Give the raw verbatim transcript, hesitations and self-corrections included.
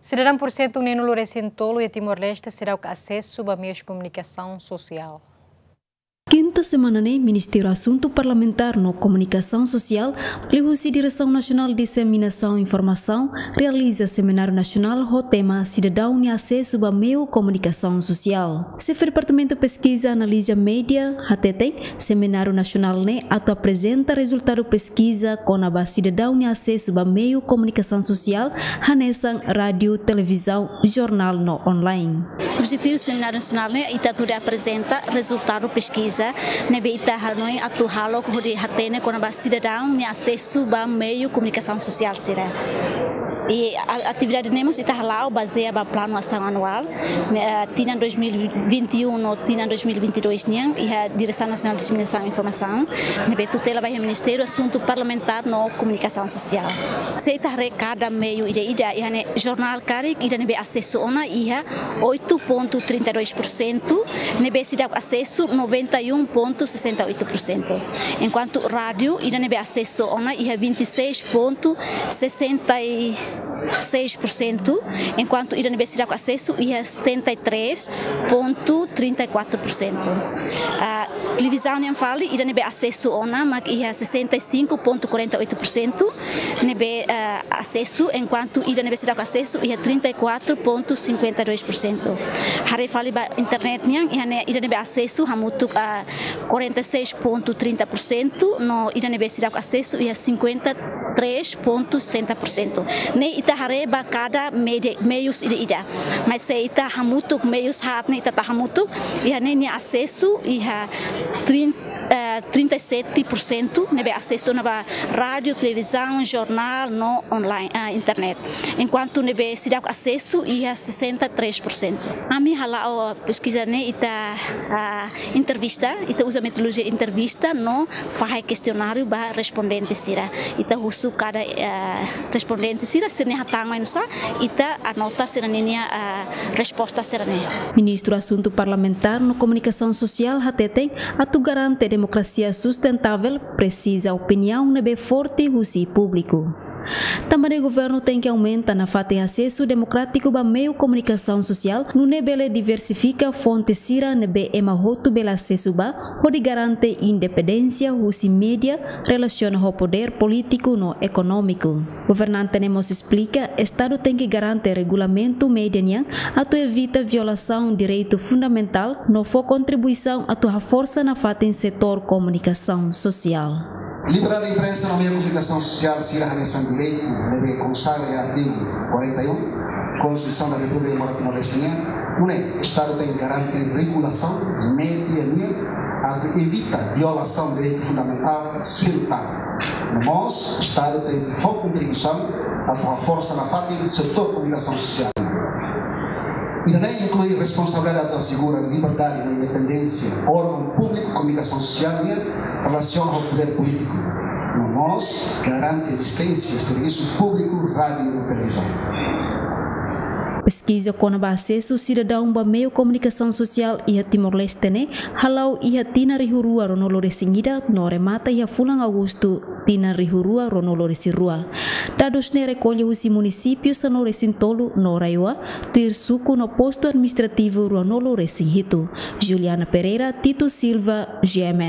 Sidadaun porsentu neenulu-resin-tolu iha Timor-Leste seidauk asesu ba meius komunikasaun sosiál. Kinta semana ne'e, Ministériu Asuntu Parlamentár no Komunikasaun Sosiál, liuhusi Diresaun Nasionál Diseminasaun Informasaun, realiza semináriu nasionál ho tema Sidadaun nia asesu ba meiu komunikasaun sosiál. Xefe Departamentu Peskiza Analiza Média hateten, semináriu nasionál ne'e atu aprezenta rezultadu peskiza kona-ba sidadaun nia asesu ba meiu komunikasaun sosiál, hanesan rádiu, televizaun, jornál no online. Objetivu semináriu nasionál ne'e ita atu aprezenta rezultadu peskiza ne'ebé ita hanoin atu halo hodi hatene kona-ba sidadaun nia asesu ba meiu komunikasaun sosiál sira. I a-, atividade ne'e mós ita hala'o bazeia ba planu asaun anuál, ne'e, eh, tinan dois mil e vinte e um no tinan dois mil e vinte e dois nian, iha Diresaun Nasionál Diseminasaun Informasaun, ne'ebé tutela ba iha Ministériu Asuntu Parlamentár no Komunikasaun Sosiál. Se ita haree kada meiu ida-ida, iha ne'e jornál karik, ida ne'ebé asesu ona iha oito ponto trinta e dois por cento, ne'ebé seidauk asesu noventa e um ponto sessenta e oito por cento. Enkuantu rádiu, ida ne'ebé asesu ona iha vinte e seis ponto sessenta e seis por cento, enkuantu ida ne'ebé seidauk asesu iha setenta e três ponto trinta e quatro por cento. Ah, televizaun nian fali, ida ne'ebé asesu ona mak iha sessenta e cinco ponto quarenta e oito por cento ne'ebé, ah, asesu, enkuantu ida ne'ebé seidauk asesu iha trinta e quatro ponto cinquenta e dois por cento. Haree fali ba internet nian, iha ne'e ida ne'ebé asesu hamutuk, ah, quarenta e seis ponto trinta por cento, no ida ne'ebé seidauk asesu iha cinquenta e três ponto setenta por cento. Ne'e ita haree ba kada média, meius ida-ida. Mas se ita hamutuk meius haat ne'e ita tau hamutuk, iha ne'e nia asesu iha trinta, eh, trinta e sete por cento ne'ebé asesu ona ba rádiu, televizaun, jornál no online, ah, internet. Enkuantu ne'ebé seidauk asesu iha sessenta e três por cento. Ami hala'o peskiza ne'e ita, ah, entrevista, ita uza metodolojia entrevista no fahe kestionáriu ba respondente sira. Ita husu kada, eh, respondente sira, sira-nia hatán mai oinsá, ita anota sira-nia, eh, resposta sira-ne'e. Ministru Asuntu Parlamentár no Komunikasaun Sosiál hateten, atu garante demokrasia sustentável, presiza opiniaun ne'ebé forte husi públiku. Tanba ne'e governu tenke aumenta nafatin asesu demokrátiku ba meiu komunikasaun sosiál, nune'e bele diversifika fonte sira ne'ebé ema hotu bele asesu ba, hodi garante independénsia husi média relasiona ho podér polítiku no ekonómiku. Governante ne'e mós esplika, Estadu tenke garante regulamentu média nian atu evita violasaun direitu fundamentál no fó kontribuisaun atu haforsa nafatin setór komunikasaun sosiál. Liberdade de imprensa no meiu komunikasaun sosiál sira hanesan direitu ne'ebé konsagra iha artigu quarenta e um, Konstituisaun da Repúblika Demokrátika Timor-Leste nian, nune'e Estadu tenke garante regulasaun média nian atu evita violasaun direitu fundamentál sira tan. No mós, Estadu tenke fó kontribuisaun atu haforsa nafatin setór komunikasaun sosiál. Ida-ne'e inklui responsabilidade atu asegura liberdade no independénsia órgaun públiku komunikasaun sosiál nian relasiona ho podér polítiku. No mós garante ezisténsia servisu públiku rádiu no televizaun. Peskiza kona-ba asesu sidadaun ba meiu komunikasaun sosiál iha Timor-Leste ne'e hala'o iha tinan rihun rua ruanulu-resin-ida no remata iha fulan Agostu tinan rihun rua ruanulu-resin-rua. Dadus ne'e rekolla husi munisípiu sanulu-resin-tolu no RAEOA, tuir suku no postu administrativu ruanulu-resin-hitu. Juliana Pereira, Tito Silva, G M N.